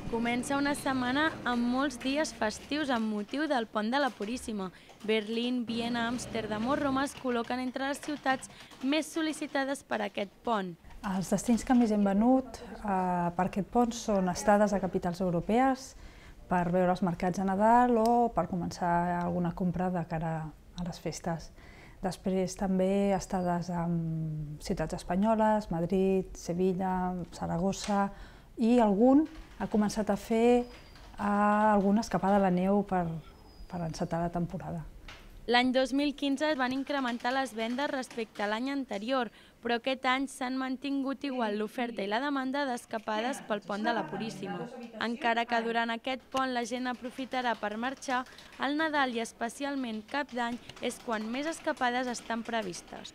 Comença una setmana amb molts dies festius amb motiu del Pont de la Puríssima. Berlín, Viena, Amsterdam o Roma es col·loquen entre les ciutats més sol·licitades per a aquest pont. Els destins que més hem venut per aquest pont són estades a capitals europees, per veure els mercats de Nadal o per començar alguna compra de cara a les festes. Després també estades en ciutats espanyoles, Madrid, Sevilla, Saragossa, i algun ha començat a fer alguna escapada a la neu per encetar la temporada. L'any 2015 es van incrementar les vendes respecte a l'any anterior, però aquest any s'han mantingut igual l'oferta i la demanda d'escapades pel Pont de la Puríssima. Encara que durant aquest pont la gent aprofitarà per marxar, al Nadal i especialment Cap d'Any és quan més escapades estan previstes.